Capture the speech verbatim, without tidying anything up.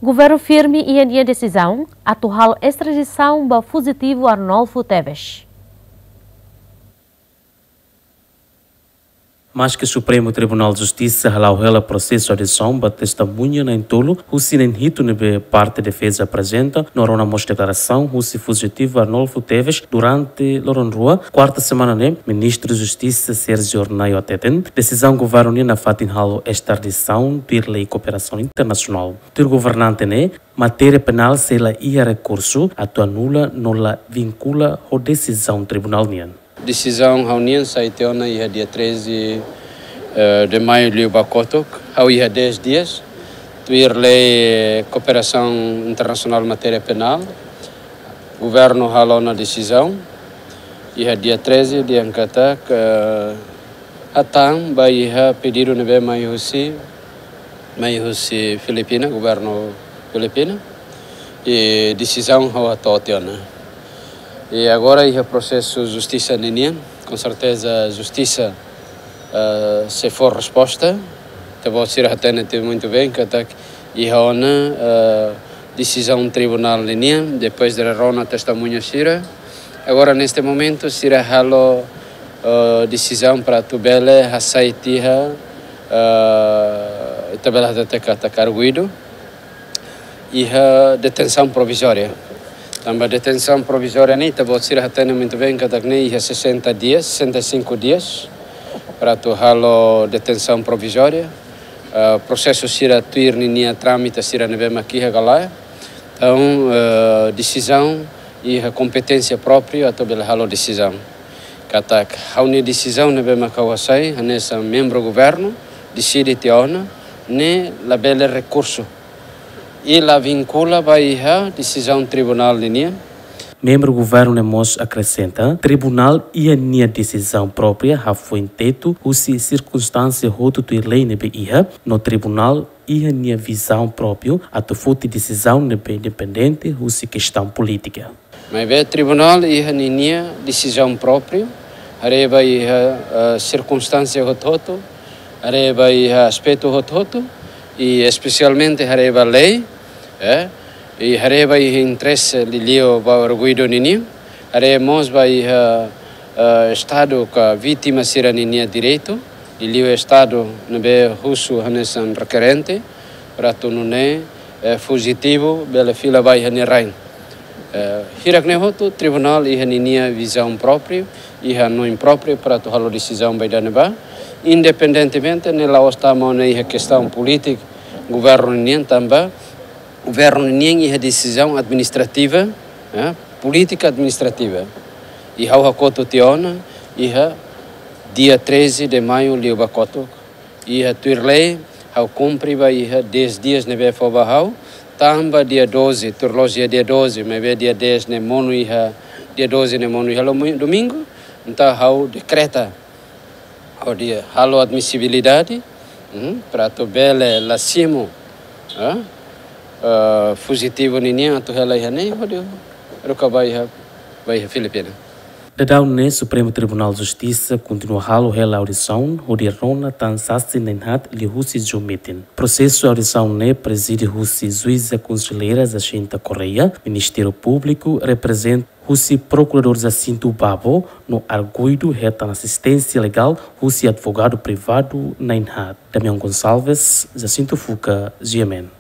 Governu firme iha nia desizaun atu halo estradisaun ba fujitivu Arnolfo Teves. Maske Supremu Tribunál Justisa hala'o hela prosesu audisaun ba testemuña na'in-tolu husi na'in-hitu ne'ebé parte defeza aprezenta, no rona mós deklarasaun husi fujitivu Arnolfo Teves durante loron rua, kuarta semana ne'e, Ministru Justisa Sérgio Hornai hateten desizaun governu nian nafatin halo estradisaun tuir lei kooperasaun internasionál. Tuir governante ne'e, matéria penál sei la iha rekursu atu anula no la vinkula ho desizaun tribunál nian. Desizaun ha'u-nian sai tiha ona iha dia treze, eh, de maio liubá kotuk, ha'u iha dez dias, tuir lei, eh, kooperasaun internasionál matéria penál. Governu halo ona desizaun iha dia treze, dehan katak, eh, hatán ba iha pedidu ne'ebé mai husi, mai husi Filipina, governu Filipina. I desizaun ha'u hato'o tiha ona. I agora iha prosesu justisa ninian, com certeza justisa, eh, sei fó resposta. Ita-boot sira hatene tiha muito bem katak iha ona, eh, desizaun tribunál ninian, depois de rona testemuña sira. Agora, neste momento, sira halo, eh, desizaun para atu bele hasai tiha, eh, ita bele hatete katak arguidu iha detensaun provizória. Tanba detensaun provizória ne'e, ita-boot sira hatene muito bem katak ne'e iha sessenta dias, sessenta e cinco dias, para atu halo detensaun provizória. Eh, prosesu sira tuir ninia trámite sira ne'ebé mak iha ka lae. Entaun, eh, desizaun iha kompeténsia própriu atu bele halo desizaun. Katak ha'u-nia desizaun ne'ebé mak ha'u hasai, hanesan membru governu, deside tiha ona, ne'e labele rekursu. I la vinkula ba iha desizaun tribunál ninian. Membru governu ne'e mós akresenta, tribunál iha nia desizaun própria hafoin tetu husi sirkunstánsia hotu tuir lei ne'ebé iha, no tribunál iha nia vizaun própriu atu foti desizaun ne'ebé independente husi kestaun polítika. Maibé tribunál iha ninia desizaun própriu, haree ba iha, eh, sirkunstánsia hotu-hotu, haree ba iha aspetu hotu-hotu, i espesialmente haree ba lei, eh, i haree ba iha interese liuliu ba arguidu ninian, haree mós ba iha, eh, Estadu ka vítima sira ninia direitu, liuliu Estadu ne'ebé husu hanesan rekerente, para atu nune'e, eh, fujitivu bele fila ba iha nia rain. Eh, hirak-ne'e hotu, tribunál iha ninia vizaun própriu, iha hanoin própriu para atu halo desizaun ba ida-ne'ebá, independentemente ne'e la'ós tama ona iha kestaun polítika governu nian, tanba governu nian iha desizaun administrativa, eh, polítika administrativa. I ha'u hakotu tiha ona iha dia treze de maio liubá kotuk. Iha tuir lei, ha'u kumpre ba iha dez dias ne'ebé fó ba ha'u, tanba dia doze, tuir loloos iha dia doze, maibé dia dez ne'e monu iha, dia doze ne'e monu iha lomi-, domingu, entaun ha'u dekreta, hodi halo admisibilidade, hmm, para atu bele la simu, eh, eh, fujitivu ninian atu hela iha ne'e, hodi haruka ba iha, ba iha Filipina. Daudaun ne'e Supremu Tribunál Justisa kontinua halo hela audisaun hodi rona tan sasin na'in-haat liuhusi João Mitin. Prosesu audisaun ne'e prezide husi juíza konselleira Jacinta Correia, Ministériu Públiku reprezenta husi Prokuradór Jacinto Babo, no arguidu hetan asisténsia legál husi advogadu privadu na'in-haat. Damião Gonçalves, Jacinto Fuca, G M N.